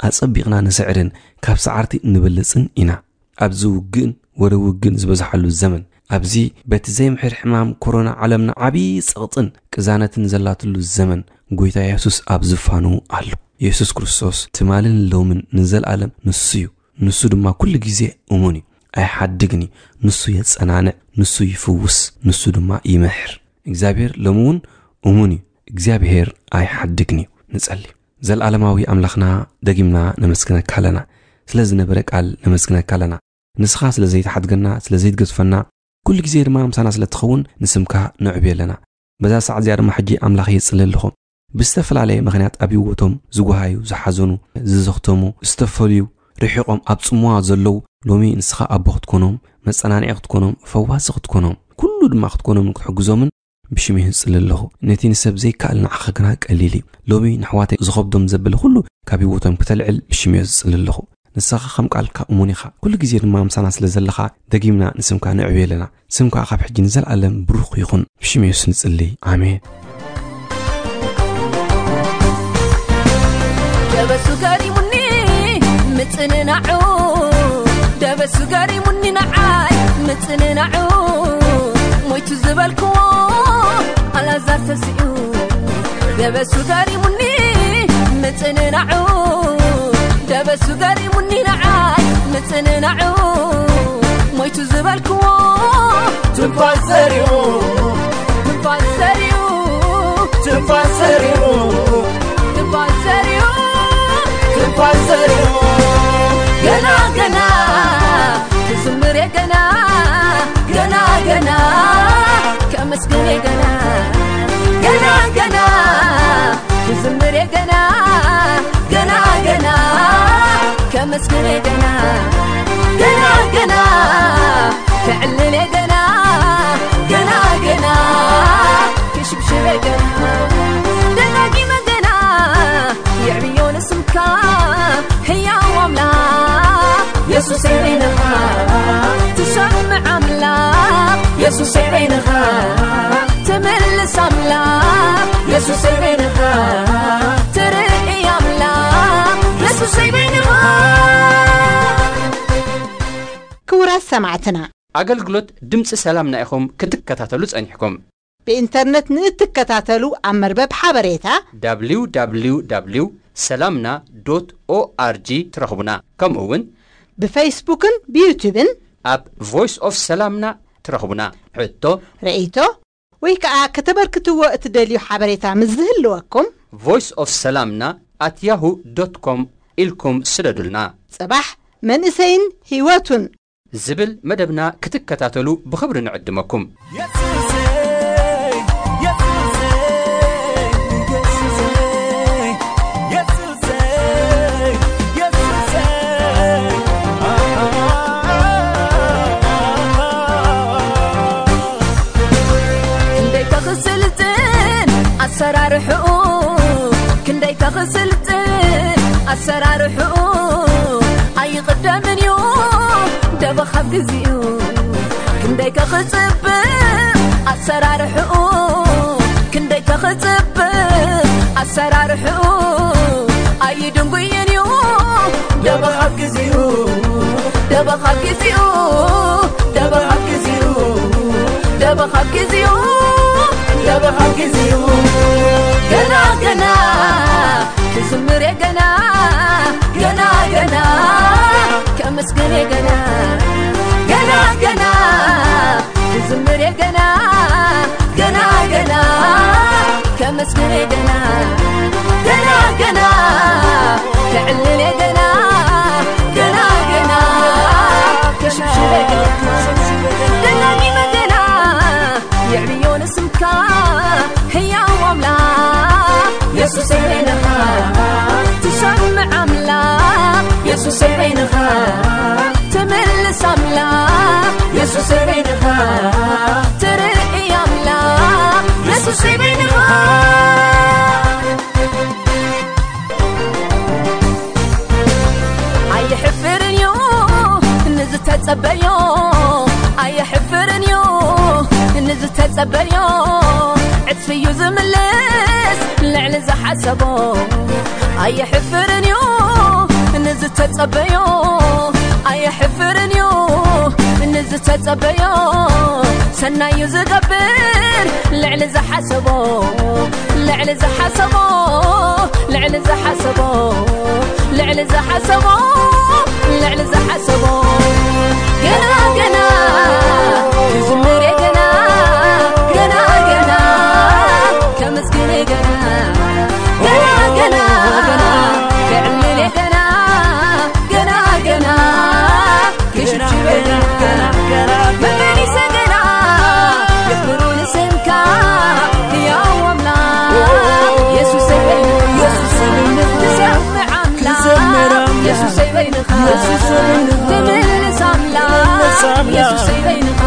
ኣጸቢቕና ንስዕርን ካብ ሰዓርቲ ንበልጽን ኢና። ኣብዚ ውግእን ወረ ውግእን ዝበዝሓሉ ዘመን፣ ኣብዚ በቲ ዘይምሕር ሕማም ኮሮና ዓለምና ዓብዪ ጸቕጥን ቅዛነትን ዘላትሉ ዘመን፣ ጎይታ የሱስ ኣብ ዝፋኑ ኣሎ። የሱስ ክርስቶስ ትማልን ሎምን ንዘለኣለም ንሱ እዩ። ንሱ ድማ ኩሉ ግዜ እሙን እዩ። ኣይሓድግን እዩ። ንሱ የጸናንዕ፣ ንሱ ይፍውስ፣ ንሱ ድማ ይምሕር። እግዚኣብሔር ሎሚ እውን እሙን እዩ። እግዚኣብሔር ኣይሓድግን እዩ። ንጸሊ። ዘለኣለማዊ ኣምላኽና፣ ደጊምና ነመስግነካ ኣለና። ስለ ዝነበረ ቃል ነመስግነካ ኣለና። ንስኻ ስለ ዘይትሓድገና፣ ስለ ዘይትገድፈና፣ ኩሉ ግዜ ድማ ምሳና ስለ ትኸውን ንስምካ ነዕብዮ ኣለና። በዛ ሰዓት እዚኣ ድማ ሕጂ ኣምላኽ የጽሊ ኣለኹ። ብዝተፈላለየ ምኽንያት ኣብ ህይወቶም ዝጓሃዩ፣ ዝሓዘኑ፣ ዝዘኽተሙ፣ ዝተፈልዩ፣ ርሒቖም ኣብ ጽምዋ ዘለዉ፣ ሎሚ ንስኻ ኣቦ ክትኮኖም፣ መጸናንዒ ክትኮኖም፣ ፈዋሲ ክትኮኖም፣ ኩሉ ድማ ክትኮኖምን ክትሕግዞምን ብሽም እየ ዝጽሊ ኣለኹ። ነቲ ንሰብ ዘይከኣል ንዓኻ ግና ቀሊል እዩ። ሎሚ ንኣሕዋተይ ዝኸብዶም ዘበለ ኩሉ ካብ ህይወቶም ክተልዕል ብሽም እየ ዝጽሊ ኣለኹ። ንስኻ ከም ቃልካ እሙን ኢኻ። ኩሉ ግዜ ድማ ምሳና ስለ ዘለኻ ደጊምና ንስምካ ነዕብዮ ኣለና። ስምካ ካብ ሕጂ ንዘለኣለም ብሩኽ ይኹን። ብሽም የሱስ ንጽሊ። ኣሜን። ደበሱ ገሪሙኒ ምጽንናዑ፣ ደበሱ ገሪሙኒ ንዓይ ምጽንናዑ፣ ሞይቱ ዝበልክዎ ኣልኣዛር ተሲኡ። ደበሱ ገሪሙኒ ምጽንናዑ፣ ደበሱ ገሪሙኒ ንዓይ ምጽንናዑ፣ ሞይቱ ዝበልክዎ ትንፋስ ዘሪኡ፣ ትንፋስ ዘሪኡ፣ ትንፋስ ዘሪኡ፣ ትንፋስ ዘሪኡ፣ ትንፋስ ዘሪኡ። ገና ገና ክዝምር እየ ገና፣ ገና ገና ከመስግን እየ ገና፣ ገና ገና ክዝምር እየ ገና፣ ገና ገና ከመስግን እየ ገና፣ ገና ገና ከዕልል እየ ገና፣ ገና ገና ክሽብሽብ እየ ገና፣ ደጋጊመ ገና የዕብዮ ንስምካ ህያው ኣምላኽ የሱሰይ በይንኻ ትሰምዕ ኣምላኽ የሱሰይ በይንኻ ትምልስ ኣምላኽ የሱሰይ በይንኻ ትርኢ ኣምላኽ የሱሰይ በይንኻ። ክቡራት ሰማዕትና፣ ኣገልግሎት ድምፂ ሰላምና ኢኹም ክትከታተሉ ጸኒሕኩም። ብኢንተርነት ንእትከታተሉ ኣብ መርበብ ሓበሬታ www ሰላምና ዶት ኦኣርጂ ትረኽቡና። ከምኡ እውን ብፌስቡክን ብዩቱብን ኣብ ቮይስ ኦፍ ሰላምና ትረኽቡና። ሕቶ ርእይቶ ወይ ከዓ ከተበርክትዎ እትደልዩ ሓበሬታ ምስ ዝህልወኩም ቮይስ ኦፍ ሰላምና ኣት ያሁ ዶት ኮም ኢልኩም ስደዱልና። ጽባሕ መንእሰይን ህይወቱን ዝብል መደብና ክትከታተሉ ብኽብሪ ንዕድመኩም። ክንደይ ከኽስልጥን ኣሰራርሕኡ ክንደይ ከኽስልጥን ኣሰራርሕኡ ኣይቕደምን እዩ ደበኻብ ግዚኡ ክንደይ ከኽጽብቕ ኣሰራርሕኡ ክንደይ ከኽጽብቕ ኣሰራርሕኡ ኣይድንጉይን እዩ ደበኻብ ግዚኡ ደበኻብ ግዚኡ ደበኻብ ግዚኡ ደበኻብ ግዚኡ ደበኻብ ግዚኡ ገና ገና ክዝምር እየ ገና ገና ገና ከመስግን እየ ገና ገና ገና ክዝምር እየ ገና ገና ገና ከመስግን እየ ገና ገና ገና ከዕልል እየ ገና ገና ገና ከሽብሽብ እየ ገና ደጋጊመ ገና የዕብዮ ንስምካ ህያው ኣምላኽ የሱሰይ በይንኻ ትሰምዕ ኣምላኽ የሱሰይ በይንኻ ትምልስ ኣምላኽ የሱሰይ በይንኻ ትርኢ ኣምላኽ የሱሰይ በይንኻ ኣይሕፍርን እዩ ንዝተጸበዮ ኣይሕፍርን እዩ ንዝተጸበዮ ዕጽፊ እዩ ዝምልስ ልዕሊ ዝሓሰቦ ኣይሕፍርን እዩ ንዝተጸበዮ ኣይሕፍርን እዩ ንዝተጸበዮ ሰናዩ ዝገብር ልዕሊ ዝሓሰቦ ልዕሊ ዝሓሰቦ ልዕሊ ዝሓሰቦ ልዕሊ ዝሓሰቦ ልዕሊ ዝሓሰቦ ገና ገና ክዝምር እየ ገና ገና ገና ከመስግን እየ ገና ገና ገና ገና ከዕልል እየ ገና ገና ገና ክሽብሽብ እየ ገና መመሊሰ ገና የኽብሩ ንስምካ ህያው ኣምላኽ የሱሰይ በይንኻ ትሰምዕ ኣምላኽ የሱሰይ በይንኻ ትምልስ ኣምላኽ የሱሰይ በይንኻ